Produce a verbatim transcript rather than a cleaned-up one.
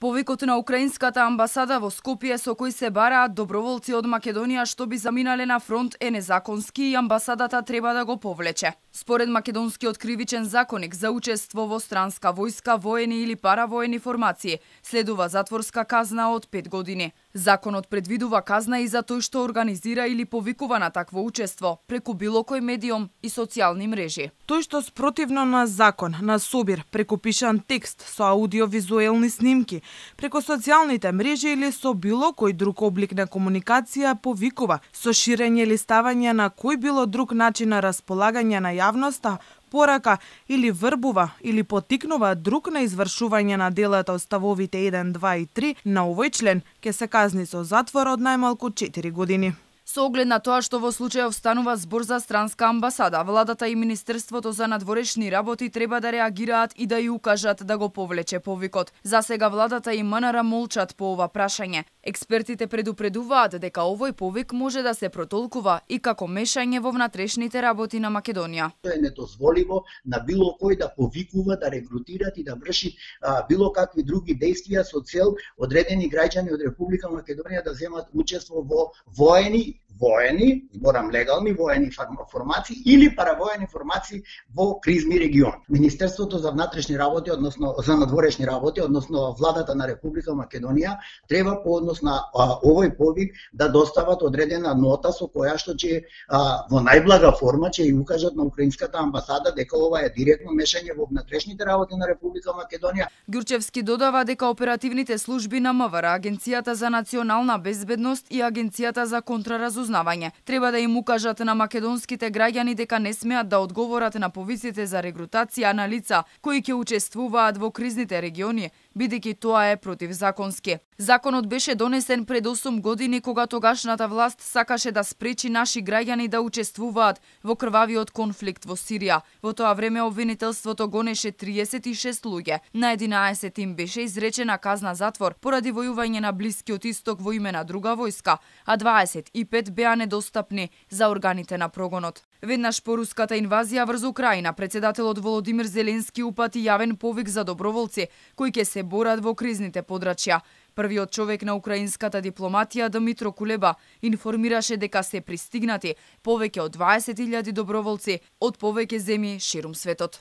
Повикот на украинската амбасада во Скопје со кој се бараат доброволци од Македонија што би заминале на фронт е незаконски и амбасадата треба да го повлече. Според македонскиот кривичен законник за учество во странска војска, воени или паравоени формации, следува затворска казна од пет години. Законот предвидува казна и за тој што организира или повикува на такво учество преку било кој медиум и социјални мрежи. Тој што спротивно на закон, на собир, преку пишан текст со аудиовизуелни снимки, преку социјалните мрежи или со било кој друг облик на комуникација повикува, со ширење или ставање на кој било друг начин на располагање на јавноста, порака или врбува или потикнува друг на извршување на делата од ставовите еден, два и три на овој член, ќе се казни со затвор од најмалку четири години. Со оглед на тоа што во случајов станува збор за странска амбасада, владата и Министерството за надворешни работи треба да реагираат и да ја укажат да го повлече повикот. За сега владата и МНР молчат по ова прашање. Експертите предупредуваат дека овој повик може да се протолкува и како мешање во внатрешните работи на Македонија. Тоа е недозволиво на било кој да повикува, да рекрутират и да врши а, било какви други действија со цел одредени граѓани од Република Македонија да земат учество во воени воени, морам легални воени формации или паравоени формации во кризни региони. Министерството за внатрешни работи, односно за надворешни работи, односно владата на Република Македонија треба по однос на а, овој повик да достават одредена нота со која што ќе а, во најблага форма ќе ја укажат на украинската амбасада дека ова е директно мешање во внатрешните работи на Република Македонија. Ѓурчевски додава дека оперативните служби на МВР, Агенцијата за национална безбедност и Агенцијата за контраразузнавање треба да им укажат на македонските граѓани дека не смеат да одговорат на повиците за регрутација на лица кои ќе учествуваат во кризните региони, бидејќи тоа е противзаконски. Законот беше донесен пред осум години кога тогашната власт сакаше да спречи наши граѓани да учествуваат во крвавиот конфликт во Сирија. Во тоа време обвинителството гонеше триесет и шест луѓе. На единаесет им беше изречена казна затвор поради војување на Блискиот Исток во име на друга војска, а дваесет и пет беа недостапни за органите на прогонот. Веднаш по руската инвазија врз Украина, председателот Володимир Зеленски упати јавен повик за доброволци кои ќе се борат во кризните подрачја. Првиот човек на украинската дипломатија, Дмитро Кулеба, информираше дека се пристигнати повеќе од дваесет илјади доброволци од повеќе земји ширум светот.